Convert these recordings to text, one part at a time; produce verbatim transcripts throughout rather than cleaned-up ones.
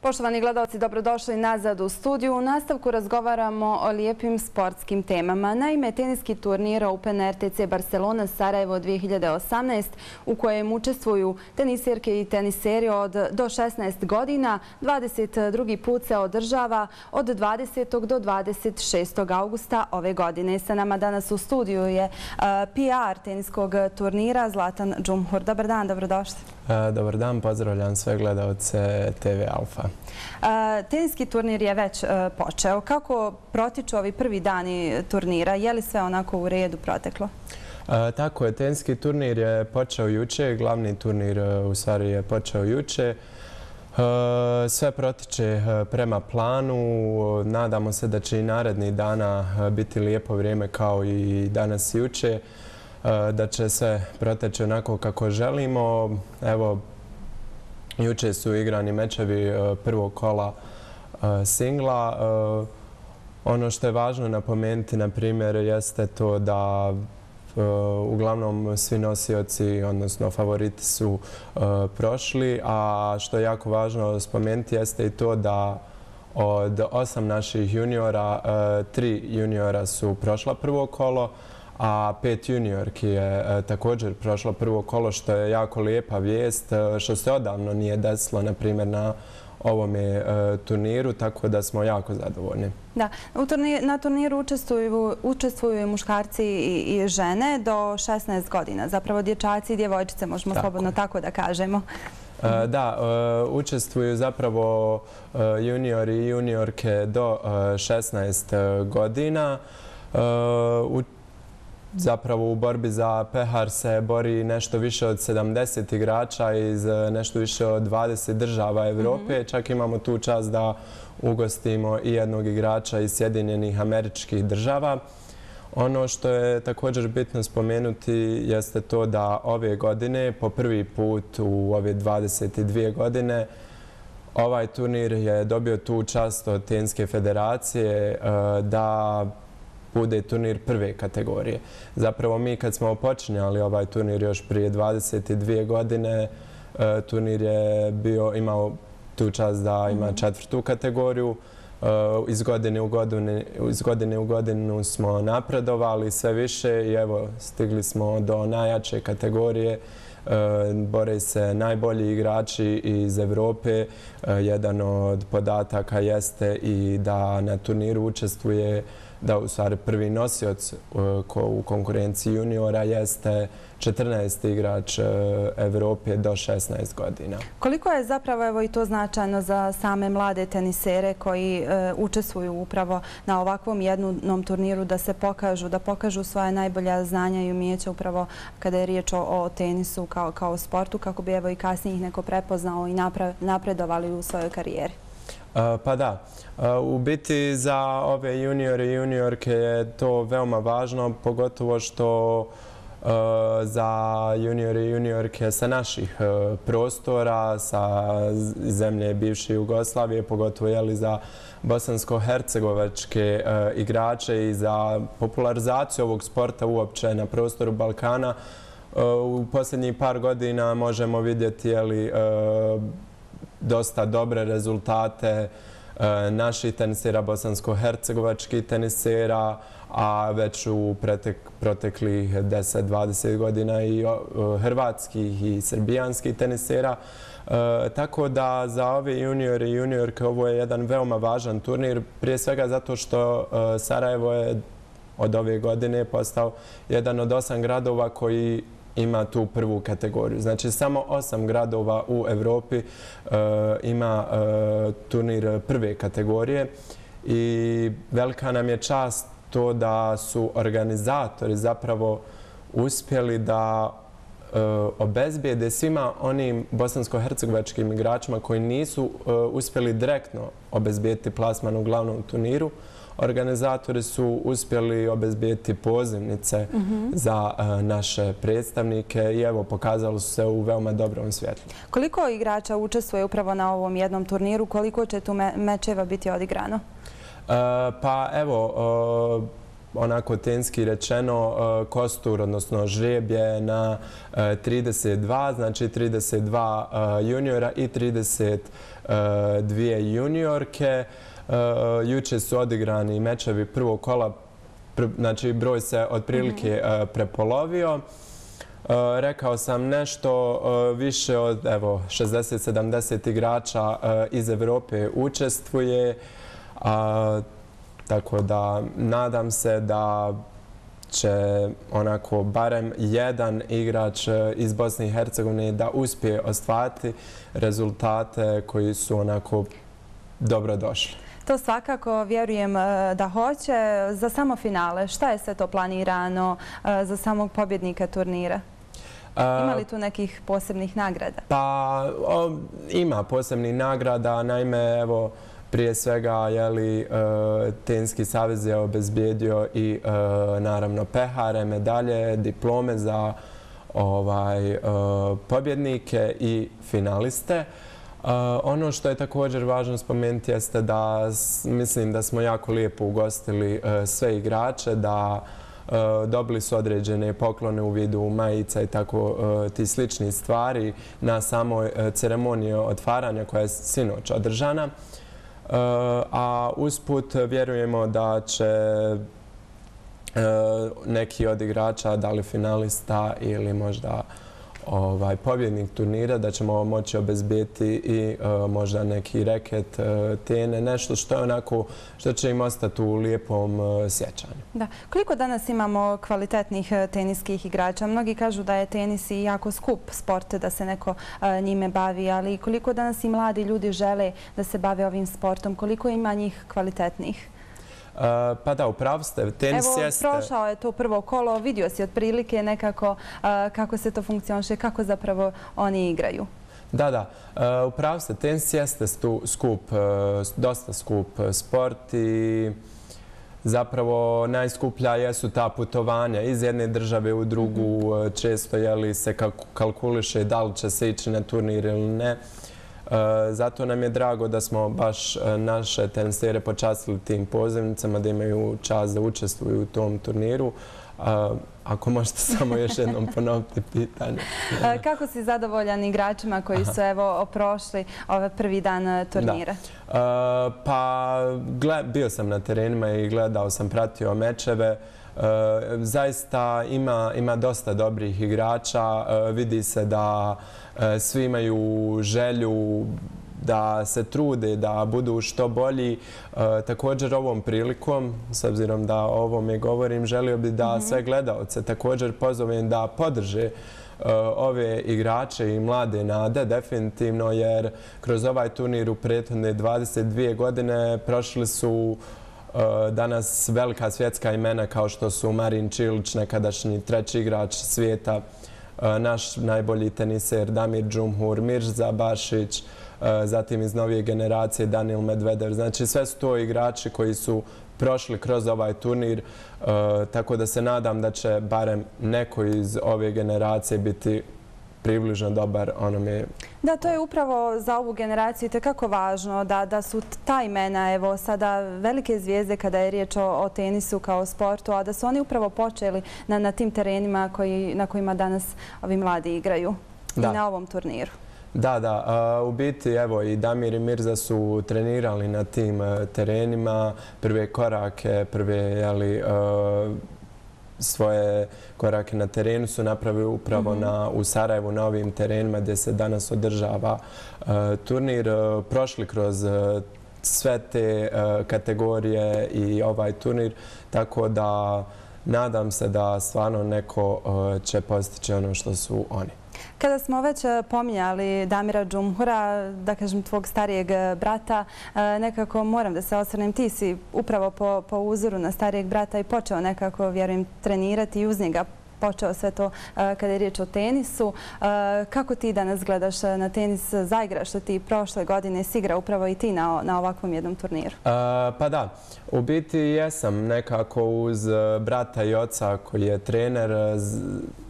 Poštovani gledalci, dobrodošli nazad u studiju. U nastavku razgovaramo o lijepim sportskim temama. Naime, teniski turnir Open R T C Barcelona Sarajevo dvije hiljade osamnaest u kojem učestvuju tenisirke i teniseri od do šesnaest godina, dvadeset drugi put se održava od dvadesetog do dvadeset šestog augusta ove godine. Sa nama danas u studiju je P R teniskog turnira Zlatan Džumhur. Dobar dan, dobrodošli. Dobar dan, pozdravljam sve gledalce T V Alfa. Teniski turnir je već počeo. Kako protiču ovi prvi dani turnira? Je li sve onako u redu proteklo? Tako je, teniski turnir je počeo juče, glavni turnir u stvari je počeo juče. Sve protiče prema planu. Nadamo se da će i narednih dana biti lijepo vrijeme kao i danas i juče. Da će sve proteći onako kako želimo. Evo, juče su igrani mečevi prvog kola singla. Ono što je važno napomenuti, na primjer, jeste to da uglavnom svi nosioci, odnosno favoriti su prošli, a što je jako važno spomenuti jeste i to da od osam naših juniora, tri juniora su prošla prvo kolo, a pet juniorki je također prošlo prvo kolo, što je jako lijepa vijest, što se odavno nije desilo, na primjer, na ovome turniru, tako da smo jako zadovoljni. Da, na turniru učestvuju i muškarci i žene do šesnaest godina, zapravo dječaci i djevojčice, možemo slobodno tako da kažemo. Da, učestvuju zapravo juniori i juniorke do šesnaest godina. Zapravo u borbi za pehar se bori nešto više od sedamdeset igrača iz nešto više od dvadeset država Evrope. Čak imamo tu čast da ugostimo i jednog igrača iz Sjedinjenih Američkih Država. Ono što je također bitno spomenuti jeste to da ove godine, po prvi put u ove dvadeset dvije godine, ovaj turnir je dobio tu čast od Teniske federacije da bude turnir prve kategorije. Zapravo mi kad smo počinjali ovaj turnir još prije dvadeset dvije godine, turnir je bio, imao tu čast da ima četvrtu kategoriju. Iz godine u godinu, iz godine u godinu smo napredovali sve više i evo stigli smo do najjače kategorije. Bore se najbolji igrači iz Evrope. Jedan od podataka jeste i da na turniru učestvuje, da u stvari prvi nosioc u konkurenciji juniora jeste četrnaesti igrač Evrope do šesnaest godina. Koliko je zapravo evo i to značajno za same mlade tenisere koji učestvuju upravo na ovakvom jednom turniru da se pokažu, da pokažu svoje najbolja znanja i umijeća upravo kada je riječ o tenisu kao sportu, kako bi evo i kasnije ih neko prepoznao i napredovali u svojoj karijeri? Pa da, u biti za ove juniore i juniorke je to veoma važno, pogotovo što za juniore i juniorke sa naših prostora, sa zemlje bivše Jugoslavije, pogotovo za bosansko-hercegovačke igrače i za popularizaciju ovog sporta uopće na prostoru Balkana. U posljednjih par godina možemo vidjeti dosta dobre rezultate naših tenisera, bosansko-hercegovačkih tenisera, a već u proteklih deset do dvadeset godina i hrvatskih i srbijanskih tenisera. Tako da za ove juniore i juniorke ovo je jedan veoma važan turnir, prije svega zato što Sarajevo je od ove godine postao jedan od osam gradova koji ima tu prvu kategoriju. Znači, samo osam gradova u Evropi ima turnir prve kategorije i velika nam je čast to da su organizatori zapravo uspjeli da obezbijede svima onim bosansko-hercegovačkim igračima koji nisu uspjeli direktno obezbijeti plasman u glavnom turniru. Organizatori su uspjeli obezbijeti pozivnice za naše predstavnike i evo, pokazali su se u veoma dobrom svjetlu. Koliko igrača učestvuje upravo na ovom jednom turniru? Koliko će tu mečeva biti odigrano? Pa evo, onako tenski rečeno, kostur, odnosno žrijeb je na trideset dva, znači trideset dva juniora i trideset dvije juniorke. Juče su odigrani mečevi prvog kola, znači broj se otprilike prepolovio. Rekao sam nešto više od šezdeset sedamdeset igrača iz Evrope učestvuje. Tako da nadam se da će onako barem jedan igrač iz Bosne i Hercegovine da uspije ostvariti rezultate koji su onako dobro došli. To svakako vjerujem da hoće. Za samo finale, šta je sve to planirano za samog pobjednika turnira? Ima li tu nekih posebnih nagrada? Pa ima posebnih nagrada, naime evo prije svega Tenski savez je obezbijedio i naravno pehare, medalje, diplome za pobjednike i finaliste. Ono što je također važno spomenuti jeste da mislim da smo jako lijepo ugostili sve igrače, da dobili su određene poklone u vidu majica i tako ti slični stvari na samoj ceremoniji otvaranja koja je sinoć održana. A usput vjerujemo da će neki od igrača, da li finalista ili možda pobjednik turnira, da ćemo moći obezbijeti i možda neki reket, tene, nešto što je onako, što će im ostati u lijepom sjećanju. Da. Koliko danas imamo kvalitetnih teniskih igrača? Mnogi kažu da je tenis i jako skup sport, da se neko njime bavi, ali koliko danas i mladi ljudi žele da se bave ovim sportom? Koliko ima njih kvalitetnih? Pa da, upravo ste. Tenis jeste... Evo, prošao je to prvo kolo, vidio si otprilike nekako kako se to funkcioniše, kako zapravo oni igraju. Da, da. Upravo ste. Tenis jeste skup, dosta skup sport i zapravo najskuplja jesu ta putovanja iz jedne države u drugu. Često se kalkuliše da li će se ići na turnir ili ne. Zato nam je drago da smo baš naše tenisere počastili tim pozivnicama, da imaju čast da učestvuju u tom turniru. Ako možete samo još jednom ponoviti pitanje. Kako si zadovoljan igračima koji su evo prošli ovaj prvi dan turnira? Pa bio sam na terenima i gledao sam, pratio mečeve. Zaista ima dosta dobrih igrača. Vidi se da svi imaju želju da se trude, da budu što bolji. Također ovom prilikom, s obzirom da o ovome govorim, želio bih da sve gledaoce također pozovem da podrže ove igrače i mlade nade, definitivno, jer kroz ovaj turnir u prethodne dvadeset dvije godine prošli su danas velika svjetska imena kao što su Marin Čilić, nekadašnji treći igrač svijeta, naš najbolji teniser Damir Džumhur, Mirza Bašić, zatim iz novije generacije Daniil Medvedev. Znači sve su to igrači koji su prošli kroz ovaj turnir, tako da se nadam da će barem neko iz ove generacije biti približno dobar onome. Da, to je upravo za ovu generaciju itekako važno da su ta imena, evo sada velike zvijezde kada je riječ o tenisu kao sportu, a da su oni upravo počeli na tim terenima na kojima danas ovi mladi igraju i na ovom turniru. Da, da. U biti, evo, i Damir i Mirza su trenirali na tim terenima. Prve korake, prve, jeli, svoje korake na terenu su napravili upravo u Sarajevu na ovim terenima gdje se danas održava turnir. Prošli kroz sve te kategorije i ovaj turnir, tako da nadam se da stvarno neko će postići ono što su oni. Kada smo već pominjali Damira Džumhura, da kažem tvog starijeg brata, nekako moram da se osvrnem. Ti si upravo po uzoru na starijeg brata i počeo nekako, vjerujem, trenirati i uz njega počeo sve to kada je riječ o tenisu. Kako ti danas gledaš na tenis? Zaigraš što ti prošle godine si igrao upravo i ti na ovakvom jednom turniru? Pa da, u biti jesam nekako uz brata i oca koji je trener.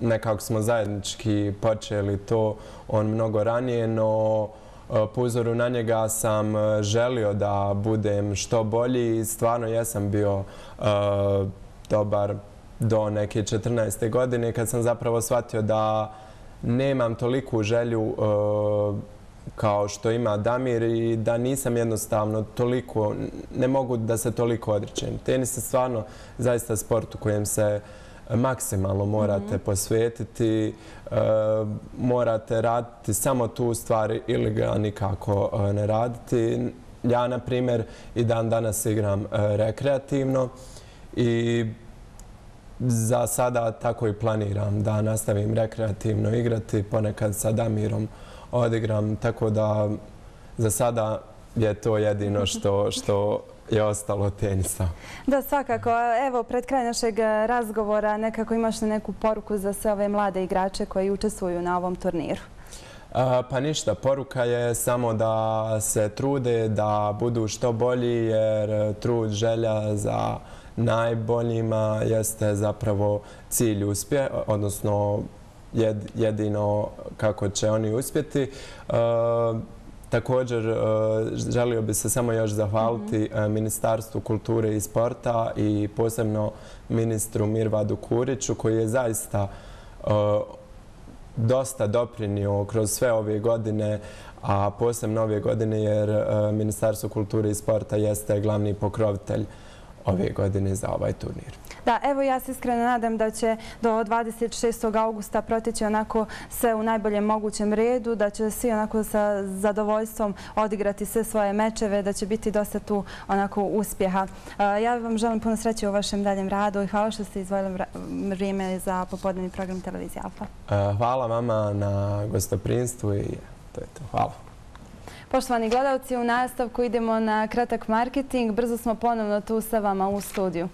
Nekako smo zajednički počeli to, on mnogo ranije, no po uzoru na njega sam želio da budem što bolji i stvarno jesam bio dobar do neke četrnaeste godine kad sam zapravo shvatio da nemam toliku želju kao što ima Damir i da nisam jednostavno toliko, ne mogu da se toliko odričem. Tenis je stvarno zaista sport u kojem se maksimalno morate posvetiti, morate raditi samo tu stvar ili ga nikako ne raditi. Ja, na primjer, i dan danas igram rekreativno i za sada tako i planiram da nastavim rekreativno igrati, ponekad sa Damirom odigram, tako da za sada je to jedino što, što je ostalo od tenisa. Da, svakako. Evo, pred kraj našeg razgovora nekako imaš li neku poruku za sve ove mlade igrače koji učestvuju na ovom turniru? Pa ništa, poruka je samo da se trude, da budu što bolji, jer trud, želja za najboljima jeste zapravo cilj uspjeha, odnosno jedino kako će oni uspjeti. Također, želio bi se samo još zahvaliti Ministarstvu kulture i sporta i posebno ministru Mirvadu Kuriću koji je zaista dosta doprinio kroz sve ove godine, a posebno ove godine jer Ministarstvo kulture i sporta jeste glavni pokrovitelj ove godine za ovaj turnir. Da, evo ja se iskreno nadam da će do dvadeset šestog augusta proteći onako sve u najboljem mogućem redu, da će svi onako sa zadovoljstvom odigrati sve svoje mečeve, da će biti dosta tu onako uspjeha. Ja vam želim puno sreće u vašem daljem radu i hvala što ste izdvojili vrijeme za popodnevni program televizije Alfa. Hvala vama na gostoprinstvu i to je to. Hvala. Poštovani gledalci, u nastavku idemo na kratak marketing. Brzo smo ponovno tu sa vama u studiju.